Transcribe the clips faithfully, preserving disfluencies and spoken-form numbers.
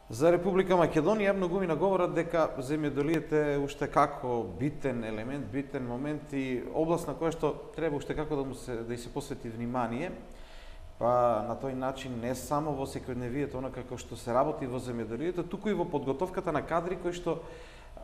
За Република Македонија многумина говорат дека земјоделието е уште како битен елемент, битен момент и област на која што треба уште како да му се да и се посвети внимание. Па на тој начин не само во секојдневието онака како што се работи во земјоделието, туку и во подготовката на кадри кои што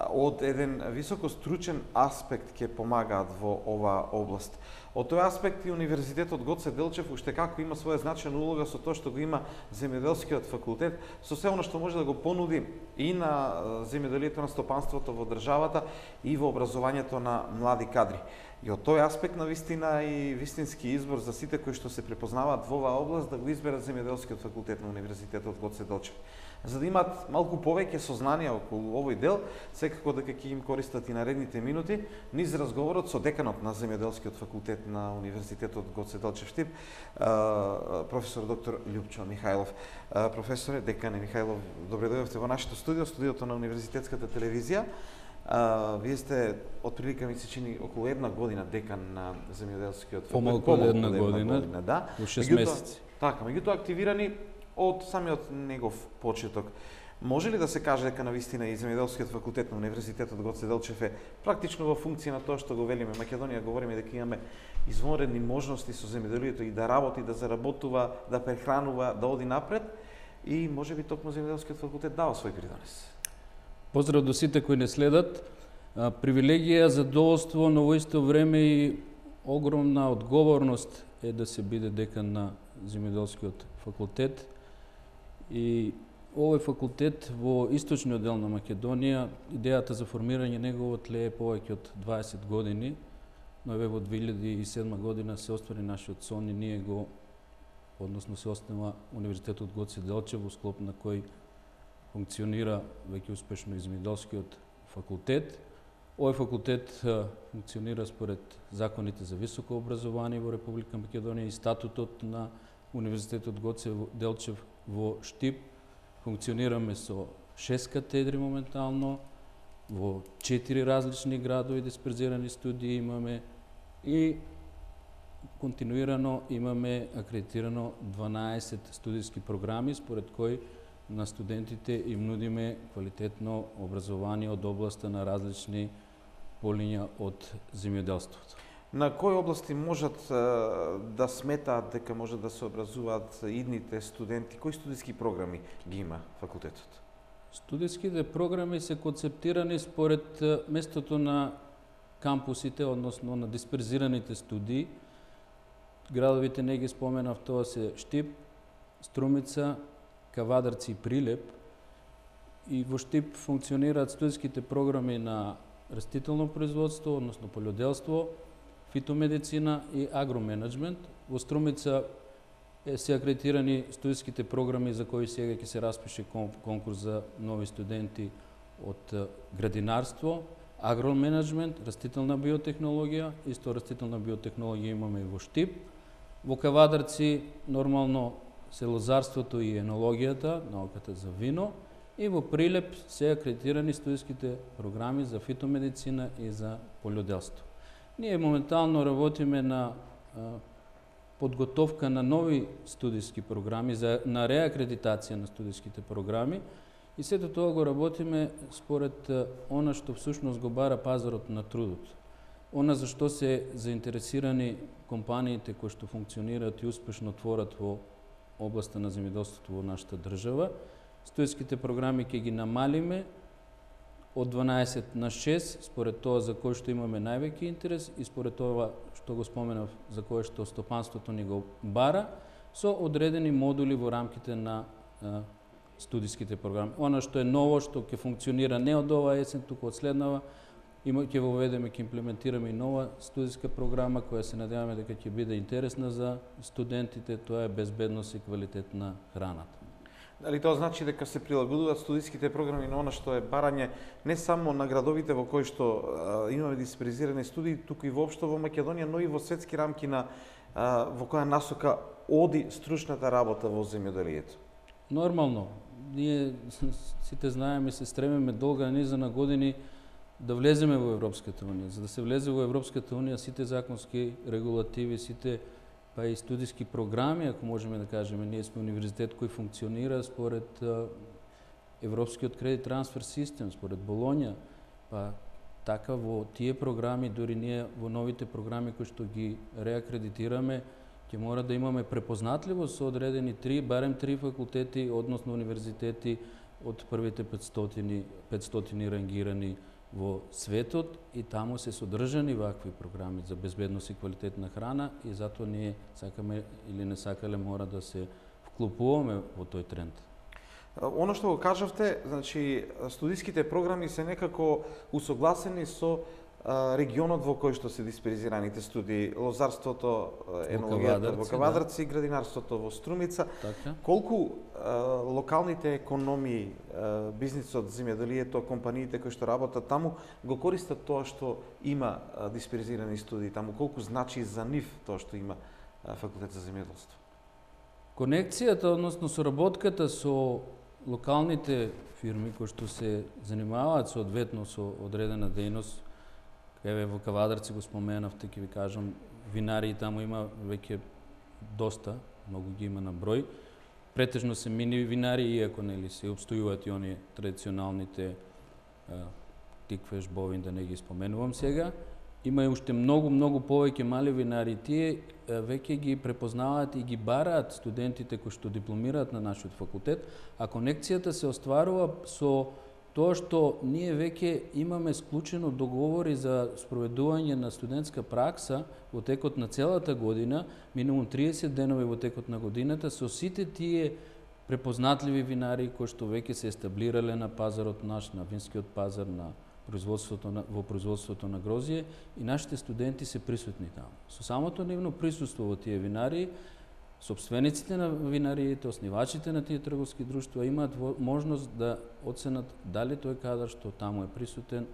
од еден високо стручен аспект ќе помагаат во оваа област. Од тој аспект и Универзитетот Гоце Делчев уште како има своја значајна улога со тоа што го има земјоделскиот факултет, со се она што може да го понуди и на земјоделието, на стопанството во државата и во образованието на млади кадри. И од тој аспект на вистина и вистински избор за сите кои што се препознаваат во оваа област да го изберат земјоделскиот факултет на Универзитетот Гоце Делчев. За да имаат малку повеќе сознание околу овој дел, секако дека ќе им користат и наредните минути, низ разговорот со деканот на земјоделскиот факултет на Универзитетот Гоце Делчев Штип, професор доктор Љупчо Михајлов. Професоре, декане Михајлов, добре дојдовте во нашето студио, студиото на Универзитетската телевизија. Uh, вие сте отприлика ми се чини околу една година декан на земјоделскиот факултет. Помалку од една година, година, да. Во шест месеци. Така, меѓутоа активирани од самиот негов почеток. Може ли да се каже дека навистина и земјоделскиот факултет на Универзитетот Гоце Делчев е практично во функција на тоа што го велиме Македонија, говориме дека имаме извонредни можности со земјоделието и да работи, да заработува, да прехранува, да оди напред и можеби токму земјоделскиот факултет дава свој придонес. Поздрав до сите кои не следат. Привилегија, задоволство, но во исто време и огромна одговорност е да се биде декан на земјоделскиот факултет. И овој факултет во источниот дел на Македонија, идејата за формирање негово тлее повеќе од дваесет години, но еве во две илјади и седма година се оствари нашиот сон и ние го, односно се основа Универзитетот Гоце Делчев, во склоп на кој функционира веќе успешно и земјоделскиот факултет. Овој факултет функционира според законите за високо образование во Република Македонија и статутот на Универзитетот Гоце Делчев во Штип. Функционираме со шест катедри моментално, во четири различни градови дисперзирани студии имаме и континуирано имаме акредитирано дванаесет студиски програми, според кои на студентите им нудиме квалитетно образование од областа на различни полиња од земјоделството. На кои области можат да сметаат дека може да се образуваат идните студенти? Кои студиски програми ги има факултетот? Студиските програми се концептирани според местото на кампусите, односно на дисперзираните студии. Градовите не ги споменав, тоа се Штип, Струмица, Кавадарци и Прилеп. И во Штип функционираат студиските програми на растително производство, односно полјоделство, фитомедицина и агроменеджмент. Во Струмица се акредитирани студиските програми за кои сега ќе се распише конкурс за нови студенти од градинарство, агроменеджмент, растителна биотехнологија, исто растителна биотехнологија имаме и во Штип. Во Кавадарци нормално се лозарството и енологијата, науката за вино, и во Прилеп се акредитирани студиските програми за фитомедицина и за полјоделство. Ние моментално работиме на а, подготовка на нови студиски програми, за, на реакредитација на студиските програми и сето тоа го работиме според а, она што всушност го бара пазарот на трудот. Она за што се заинтересирани компаниите кои што функционираат и успешно творат во областа на земјоделството во нашата држава. Студиските програми ќе ги намалиме од дванаесет на шест, според тоа за кој што имаме највеќе интерес и според тоа што го споменав за кое што стопанството ни го бара, со одредени модули во рамките на а, студиските програми. Она што е ново, што ќе функционира не од оваа есен, туку од следнава, има ќе воведеме, ќе имплементираме и нова студиска програма која се надеваме дека ќе биде интересна за студентите, тоа е безбедност и квалитет на храната. Дали тоа значи дека се прилагодуваат студиските програми на она што е барање не само на градовите во кои што а, имаме дисперзирани студии, туку и воопшто во Македонија, но и во светски рамки на а, во која насока оди стручната работа во земјоделието? Нормално. Ние сите знаеме и се стремиме долга низа на години да влеземе во Европската унија. За да се влезе во Европската унија, сите законски регулативи, сите па и студиски програми, ако можеме да кажеме, ние сме универзитет кој функционира според Европскиот кредит трансфер систем, според Болонја, па така во тие програми, дури ние во новите програми кои што ги реакредитираме, ќе мора да имаме препознатливост со одредени три, барем три факултети, односно универзитети од првите петстотини, петстотини рангирани во светот, и таму се содржани вакви програми за безбедност и квалитетна храна, и затоа ние сакаме или не сакале мора да се вклупуваме во тој тренд. Оно што го кажавте, значи студиските програми се некако усогласени со регионот во кој што се дисперзираните студии, лозарството, енологијата во Кавадарци, да. Градинарството во Струмица. Така. Колку а, локалните економии, а, бизнисот, земјоделието, компаниите кои што работат таму, го користат тоа што има а, дисперзирани студии таму? Колку значи за нив тоа што има а, факултет за земјоделство? Конекцијата, односно соработката со локалните фирми кои што се занимаваат соодветно со одредена дејност, еве во Кавадарци го споменавте, ќе ви кажам, винарии таму има веќе доста, многу ги има на број. Претежно се мини винарии, иако нели се обстојуваат и оние традиционалните тиквеш, бовин, да не ги споменувам сега. Има и уште многу, многу повеќе мали винарии. Тие веќе ги препознаваат и ги бараат студентите кои што дипломираат на нашиот факултет, а конекцијата се остварува со тоа што ние веќе имаме склучено договори за спроведување на студентска пракса во текот на целата година, минимум триесет денови во текот на годината, со сите тие препознатливи винари кои што веќе се естаблирале на пазарот наш, на винскиот пазар, на производството на, во производството на грозје, и нашите студенти се присутни таму. Со самото нивно присуство во тие винари, сопствениците на винариите, основачите на тие трговски друштва имаат можност да оценат дали тој кадар што таму е присутен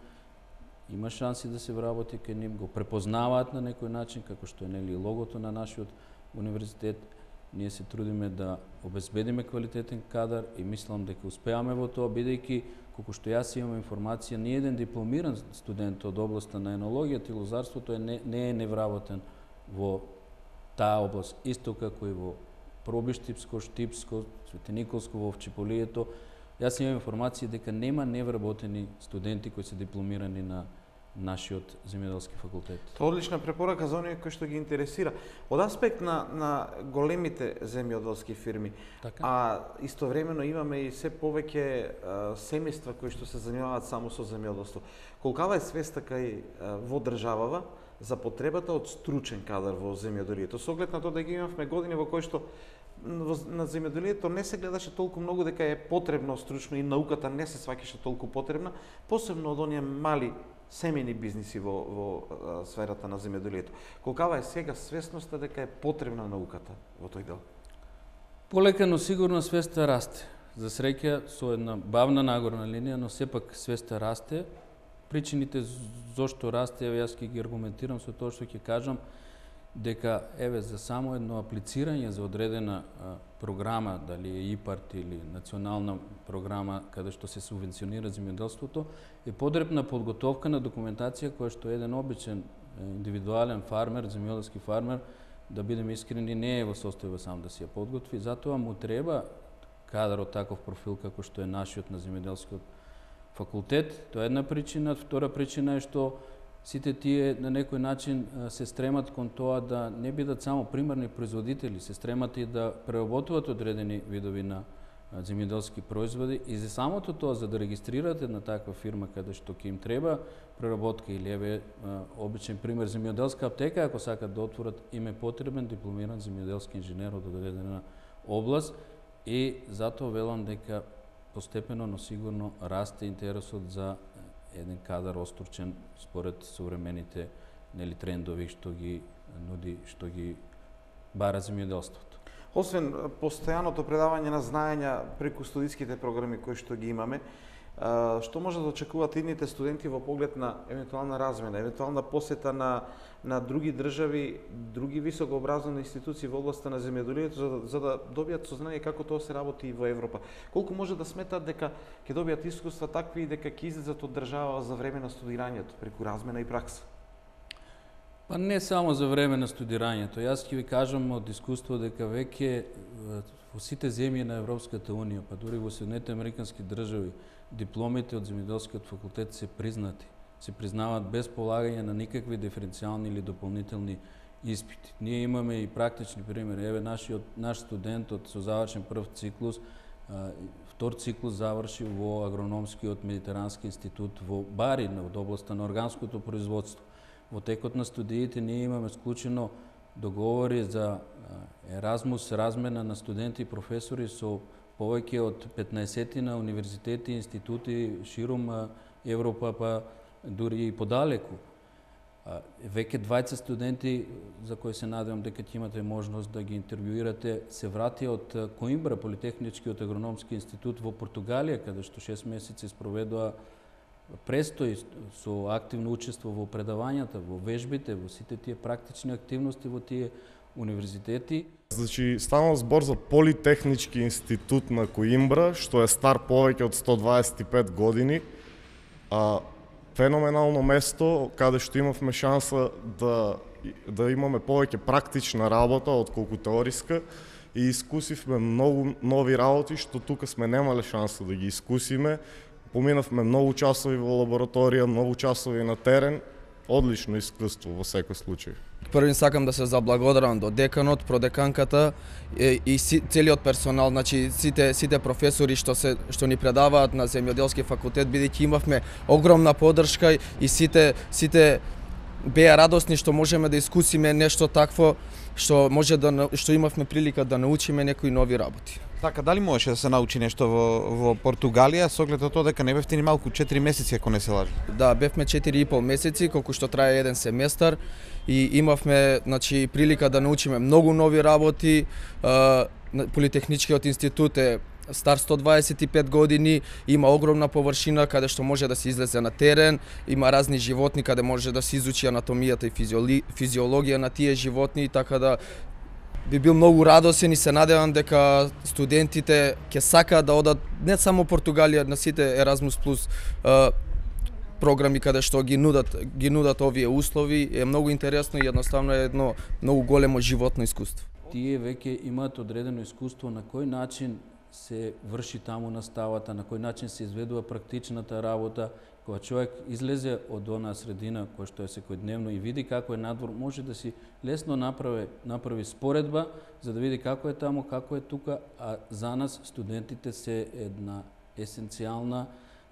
има шанси да се вработи кај нив, го препознаваат на некој начин, како што е нели логото на нашиот универзитет. Ние се трудиме да обезбедиме квалитетен кадар и мислам дека успеаме во тоа, бидејќи колку што јас имам информација, ни еден дипломиран студент од областа на енологијата и лозарството е не, не е невработен во таа област, исто како и во Пробиштипско, Штипско, Светениколско, во Овчеполието. Јас имам информација дека нема невработени студенти кои се дипломирани на нашиот земјоделски факултет. Тоа одлична препорака за оние кои што ги интересира. Од аспект на, на големите земјоделски фирми, така? А истовремено имаме и се повеќе семејства кои што се занимаваат само со земјоделство. Колкава е свеста кај во државава за потребата од стручен кадар во земјоделието? Со оглед на тоа да ги имавме години во кои што на земјоделието не се гледаше толку многу дека е потребно стручно и науката не се сваќаше толку потребна, посебно од оние мали семејни бизниси во, во а, сферата на земјоделието. Колкава е сега свесноста дека е потребна науката во тој дел? Полека, но сигурно свеста расте. За среќа со една бавна нагорна линија, но сепак свеста расте. Причините зошто расте, еве јас ќе ги аргументирам со тоа што ќе кажам, дека еве за само едно аплицирање за одредена а, програма, дали е ИПАРТ или национална програма каде што се субвенционира земјоделството, е потребна подготовка на документација која што еден обичен индивидуален фармер, земјоделски фармер, да бидеме искрени, не е во состојба сам да си ја подготви, затоа му треба кадар од таков профил како што е нашиот на земјоделскиот факултет. Тоа е една причина. Втора причина е што сите тие на некој начин се стремат кон тоа да не бидат само примарни производители, се стремат и да преработуваат одредени видови на земјоделски производи, и за самото тоа, за да регистрирате една таква фирма каде што ќе им треба преработка, или еве обичен пример земјоделска аптека, ако сакат да отворат, им е потребен дипломиран земјоделски инженер од одредена област, и затоа велам дека постепено, но сигурно расте интересот за еден кадар остручен според современите нели трендови што ги нуди, што ги бара земјоделството. Освен постојаното предавање на знаења преку студиските програми кои што ги имаме, што може да очекуваат идните студенти во поглед на евентуална размена, евентуална посета на на други држави, други високообразовни институции во областа на земјоделието, за, да, за да добијат сознание како тоа се работи и во Европа? Колку може да сметат дека ќе добијат искуства такви и дека ќе излезат од држава за време на студирањето преку размена и пракса? Па не само за време на студирањето. Јас ќе ви кажам од искуство дека веќе во сите земји на Европската унија, па дури во Соединетите американски држави, дипломите од земјоделскиот факултет се признати, се признаваат без полагање на никакви диференцијални или дополнителни испити. Ние имаме и практични примери. Еве нашиот наш студент од со завршен прв циклус, втор циклус заврши во агрономскиот медитерански институт во Бари, од областа на органското производство. Во текот на студиите ние имаме склучено договори за Еразмус, размена на студенти и професори со повеќе од петнаесет на универзитети и институти ширум Европа, па дури и подалеку. Веќе двајцет студенти, за кои се надевам дека ќе имате можност да ги интервјуирате, се вратија од Коимбра, Политехничкиот агрономски институт во Португалија, каде што шест месеци спроведува престој со активно учество во предавањата, во вежбите, во сите тие практични активности во тие универзитети. Значи, станува збор за Политехнички институт на Коимбра, што е стар повеќе од сто дваесет и пет години. А, феноменално место каде што имавме шанса да, да имаме повеќе практична работа отколку теориска и искусивме многу нови работи што тука сме немале шанса да ги искусиме. Поминавме многу часови во лабораторија, многу часови на терен, одлично искуство во секој случај. Првин сакам да се заблагодарам до деканот, продеканката и, и си, целиот персонал, значи сите сите професори што се што ни предаваат на земјоделски факултет, бидејќи имавме огромна поддршка и сите сите беа радосни што можеме да искусиме нешто такво што може да што имавме прилика да научиме некои нови работи. Така, дали можеше да се научи нешто во, во Португалија, со оглед на тоа дека не бевте ни малку четири месеци, ако не се лажам? Да, бевме четири и пол месеци, колку што трае еден семестар и имавме, значи, прилика да научиме многу нови работи. Политехничкиот институт е стар сто дваесет и пет години, има огромна површина каде што може да се излезе на терен, има разни животни каде може да се изучи анатомијата и физиоли, физиологија на тие животни, така да би бил многу радосен и се надевам дека студентите ќе сакаат да одат не само Португалија, на сите Еразмус плюс програми каде што ги нудат ги нудат овие услови. Е многу интересно и едноставно е едно многу големо животно искуство. Тие веќе имаат одредено искуство на кој начин се врши таму наставата, на кој начин се изведува практичната работа. Кога човек излезе од онаа средина која што е секојдневно и види како е надвор, може да си лесно направи направи споредба за да види како е таму, како е тука, а за нас студентите се една есенцијална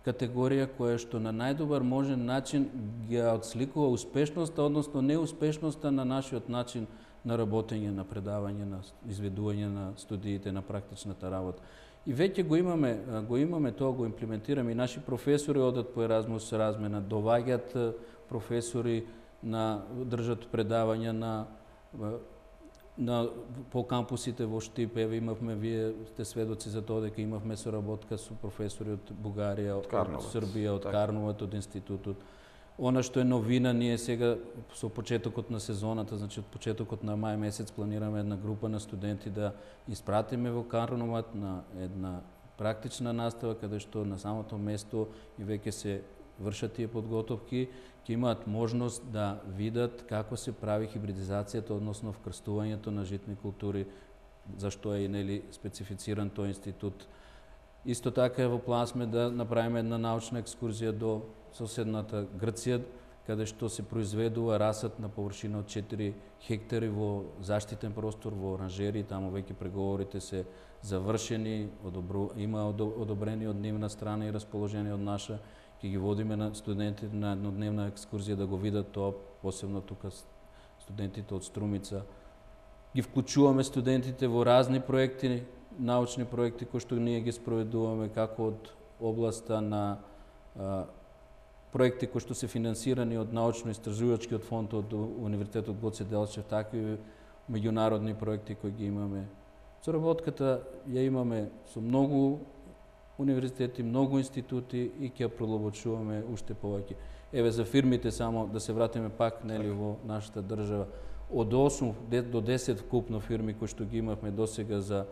категорија која што на најдобар можен начин ги отсликува успешноста, односно неуспешноста на нашиот начин на работење, на предавање, на изведување на студиите, на практичната работа. И веќе го имаме, го имаме тоа, го имплементираме и наши професори одат по Еразмус размена, доваѓаат професори на држат предавања на на по кампусите во Штип. Еве имавме, вие сте сведоци за тоа дека имавме соработка со професори од Бугарија, од, од Србија, од так. Карноват, од институтот. Она што е новина, ние сега со почетокот на сезоната, значи од почетокот на мај месец планираме една група на студенти да испратиме во Карноват на една практична настава каде што на самото место и веќе се вршат тие подготовки, ќе имаат можност да видат како се прави хибридизацијата, односно вкрстувањето на житни култури, зашто е и нели специфициран тој институт. Исто така е во план сме да направиме една научна екскурзија до соседната Грција, каде што се произведува расат на површина од четири хектари во заштитен простор, во оранжери, таму веќе преговорите се завршени, одобру, има одобрени од нивна страна и расположени од наша. Ќе ги водиме на студентите на еднодневна екскурзија да го видат тоа, посебно тука студентите од Струмица. Ги вклучуваме студентите во разни проекти, научни проекти кои што ние ги спроведуваме, како од областа на а, проекти кои што се финансирани од научно-истражувачкиот фонд од Универзитетот Гоце Делчев, така и меѓународни проекти кои ги имаме. Соработката ја имаме со многу универзитети, многу институти и ќе продлабочуваме уште повеќе. Еве за фирмите само да се вратиме пак нели во нашата држава. Од осум до десет вкупно фирми кои што ги имавме досега за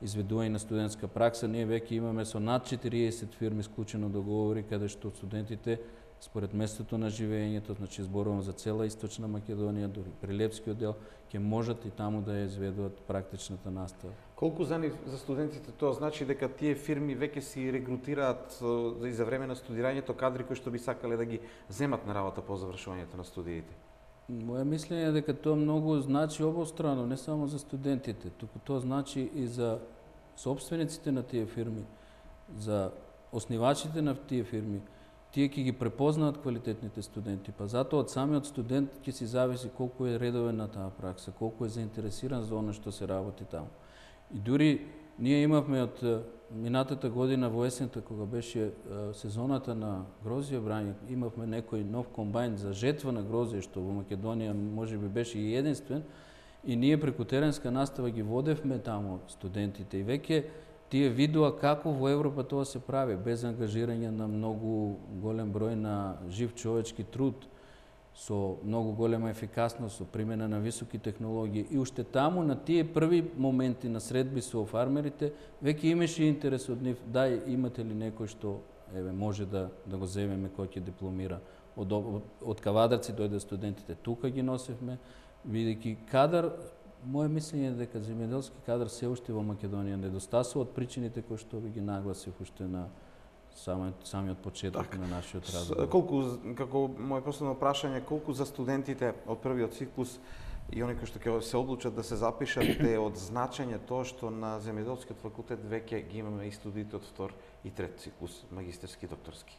изведување на студентска пракса, ние веќе имаме со над четириесет фирми склучено договори каде што студентите според местото на живеењето, значи зборувам за цела Источна Македонија, дури Прилепскиот дел, ќе можат и таму да ја изведуваат практичната настава. Колку за нив, за студентите тоа значи дека тие фирми веќе си регрутираат и за време на студирањето кадри кои што би сакале да ги земат на работа по завршувањето на студиите? Моја мислење е дека тоа многу значи обострано, не само за студентите, туку тоа значи и за собствениците на тие фирми, за основачите на тие фирми. Тие ќе ги препознаат квалитетните студенти, па затоа од самиот студент ќе си зависи колку е редовен на таа пракса, колку е заинтересиран за оно што се работи таму. И дури ние имавме од минатата година во есента, кога беше сезоната на грозје брање, имавме некој нов комбајн за жетва на грозје, што во Македонија можеби беше и единствен, и ние преку теренска настава ги водевме таму студентите и веќе тие видоа како во Европа тоа се прави, без ангажирање на многу голем број на жив човечки труд, со многу голема ефикасност, со примена на високи технологии. И уште таму, на тие први моменти на средби со фармерите, веќе имаше интерес од нив, дај, имате ли некој што еве може да да го земеме кој ќе дипломира. Од, од, од Кавадарци дојде студентите, тука ги носевме, бидејќи кадар, моје мислење е дека земјоделски кадар се уште во Македонија недостасува од причините кои што ви ги нагласив уште на самиот, самиот почеток так, на нашиот разговор. Колку, како моје последно прашање, колку за студентите од првиот циклус и оние кои што ќе се одлучат да се запишат е од значење тоа што на земјоделскиот факултет веќе ги имаме и студиите од втор и трет циклус, магистерски и докторски?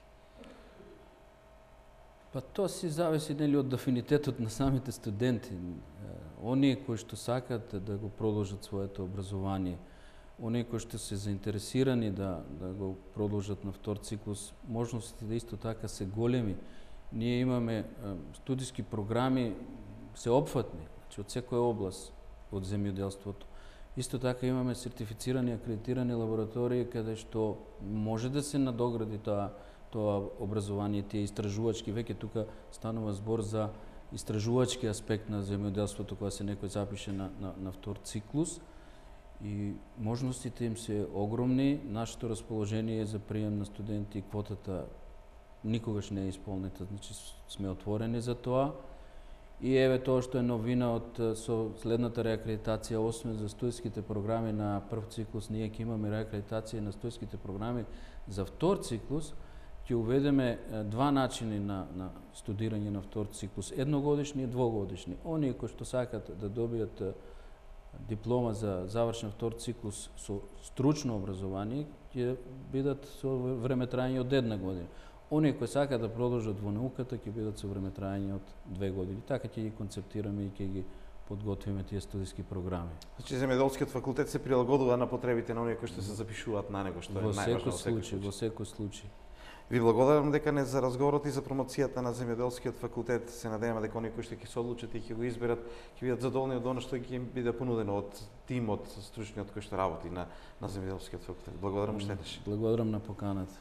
Па тоа си зависи нели од афинитетот на самите студенти. Оние кои што сакаат да го продолжат своето образование, оние кои што се заинтересирани да, да го продолжат на втор циклус, можностите исто така се големи. Ние имаме студиски програми сеопфатни, значи од секоја област од земјоделството. Исто така имаме сертифицирани, акредитирани лаборатории каде што може да се надогради тоа тоа образование, тие истражувачки, веќе тука станува збор за истражувачки аспект на земјоделството кога се некој запише на, на, на втор циклус. И можностите им се огромни, нашето расположение за прием на студенти, квотата никогаш не е исполнета, значи сме отворени за тоа. И еве тоа што е новина од со следната реакредитација, освен за студентските програми на прв циклус, ние ќе имаме реакредитација на студентските програми за втор циклус, ќе уведеме два начини на, на студирање на втор циклус, едногодишни и двогодишни. Оние кои што сакат да добијат диплома за завршен втор циклус со стручно образование ќе бидат со време трајање од една година. Оние кои сакаат да продолжат во науката ќе бидат со време трајање од две години. Така ќе ги концептираме и ќе ги подготвиме тие студиски програми. Значи земјоделскиот факултет се прилагодува на потребите на оние кои што се запишуваат на него, што е најважно во секој случај. Во секој случај. Ви благодарам дека не за разговорот и за промоцијата на земјоделскиот факултет. Се надеваме дека оние кои што ќе се одлучат и ќе го изберат ќе бидат задоволни од оно што ќе им биде понудено од тимот стручниот кој што работи на на земјоделскиот факултет. Благодарам уште еднаш. Благодарам на поканата.